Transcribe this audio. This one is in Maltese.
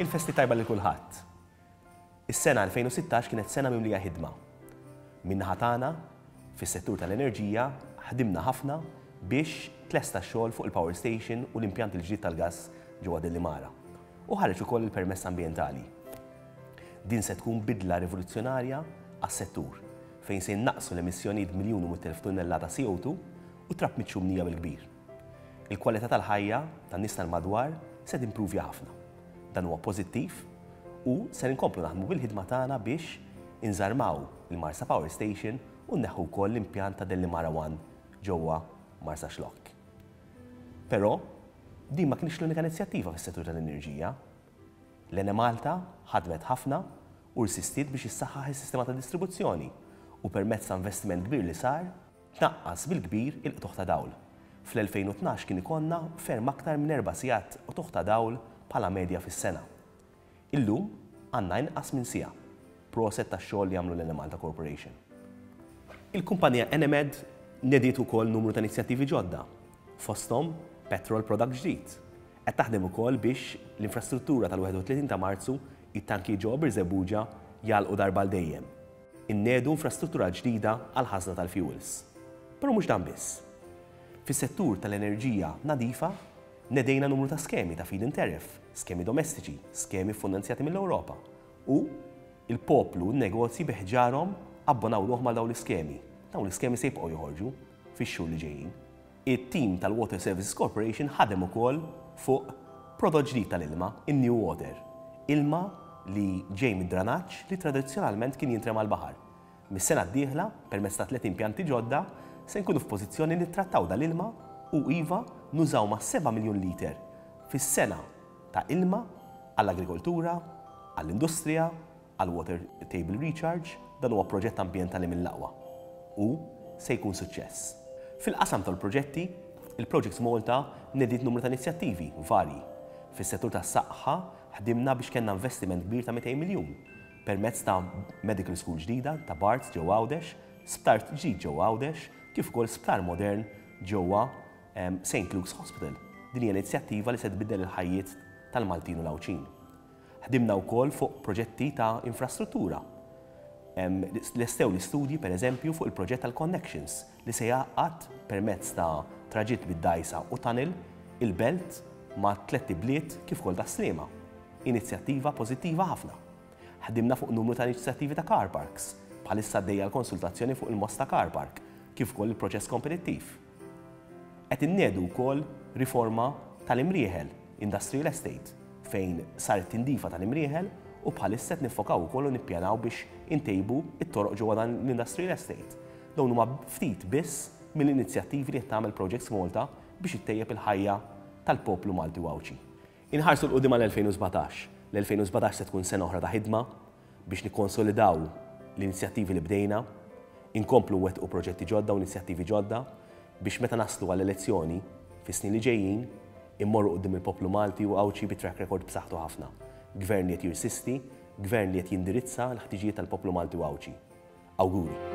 Il-festi tajba lil kulħadd. Is-sena 2016 kienet sena mimlija ħidma. Min-naħa tagħna, fis-settur tal-enerġija, ħdimna ħafna biex tlesta x-xogħol fuq il-power station u l-impjant il-ġdid tal-gass ġewwa Delimara. U ħareġ ukoll il-permess ambjentali. Din se tkun bidla rivoluzzjonarja għas-settur, fejn se jinnaqqsu l-emissjonijiet b'miljun u 100,000 tunnellata CO2 u trab miċ-ċumnija bil-kbir. Il-kwalità tal-ħajja tan-nies tal-madwar se timpruvja ħafna. Dan huwa pożittiv u ser inkomplu naħdmu bil-ħidma tagħna biex inżarmaw il-Marsa Power Station u nneħħu wkoll l-impjant ta' Delimara One ġewwa Marsaxlokk. Però, din ma kinitx l-unika inizjattiva fis-settur tal-enerġija. L-Enemalta ħadmet ħafna u rsistiet biex issaħħaħ is-sistema ta' distribuzzjoni u permezz ta' investiment kbir li sar, tnaqqas bil-kbir il-qtugħ ta' dawl. Fl-2012 kien ikollna ferm aktar minn erba' sigħat qtugħ ta' dawl bħala medja fis-sena. Illum għandna inqas minn siegħa. Proset tax-xogħol li għamlu l-Enemalta Corporation. Il-kumpanija Enemed nediet ukoll numru ta' inizjattivi ġodda, fosthom petrol product ġdid. Qed taħdem ukoll biex l-infrastruttura tal-31 ta' Marzu, it-tankijiet ġewwa Birżebbuġa jagħlqu darba għal dejjem. Inniedu infrastruttura ġdida għall-ħażna tal-fjuwils. Però mhux dan biss. Fis-settur tal-enerġija nadifa, nedejna numru ta' skemi ta' feed-in tariff, skemi domestiċi, skemi ffunanzjati mill-Ewropa u l-poplu u n-negozji bi ħġarhom abbonaw ruħhom għal dawn l-iskemi. Dawn l-iskemi se jibqgħu joħorġu fix-xhur li ġejjin. It-tim tal-Water Services Corporation ħadem ukoll fuq prodott ġdid tal-ilma, in-New Water, ilma li ġej mid-dranaġġ li tradizzjonalment kien jintrema l-baħar. Mis-sena d-dieħla, permezz ta' 30 pjanti ġodda, se nkunu f'pożizzjoni nittrattaw dal-ilma u iva nużaw ma' 7 miljun liter fis-sena ta' ilma għall-agrikoltura, għall-industrija, għall-water table recharge, dan huwa proġett ambjentali mill-aqwa u se jkun suċċess. Fil-qasam tal-proġetti, il-Projects Malta nediet numru ta' inizjattivi varji. Fis-settur tas-saħħa ħdimna biex kellna investiment kbir ta' 200 miljun permezz ta' medical school ġdida ta' Barts ġewwa Għawdex, sptar ġdid ġewwa Għawdex, kif ukoll sptar modern ġewwa St. Luke's Hospital. Din hija inizjattiva li se tbiddel il-ħajjiet tal-Maltin u l-Għawdxin. Ħdimna wkoll fuq proġetti ta' infrastruttura. Lestew l-istudji, pereżempju, fuq il-proġett tal-Connections li se jgħaqqad permezz ta' traġitt bid-dgħajsa u tunnel il-Belt ma' tlett ibliet kif ukoll Tas-Sliema. Inizjattiva pożittiva ħafna. Ħdimna fuq numru ta' inizjattivi ta' car parks. Bħalissa għaddejja l-konsultazzjoni fuq il-Mosta Car Park kif ukoll il-proċess kompetittiv. Qed inniedu wkoll riforma tal-Imrieħel Industrial Estate fejn saret tindifa tal-Imrieħel u bħalissa qed niffokaw ukoll u nippjanaw biex intejbu t-toroq ġewwa dan l-Industrial Estate. Dawn huma ftit biss mill-inizjattivi li qed tagħmel Projects Malta biex ittejjeb il-ħajja tal-poplu Malti u Għawdxi. Inħarsu 'l quddiem għall-2017. L-2017 se tkun sena oħra ta' ħidma biex nikkonsolidaw l-inizjattivi li bdejna, inkomplu nwettqu proġetti ġodda u inizjattivi ġodda biex meta naslu għall-elezzjoni fis-snin li ġejjin, immorru quddiem il-poplu Malti u Għawdxi bi track record b'saħħtu ħafna. Gvern li qed jirsisti, Gvern li qed jindirizza l-ħtiġijiet tal-poplu Malti u Għawdxi. Awguri!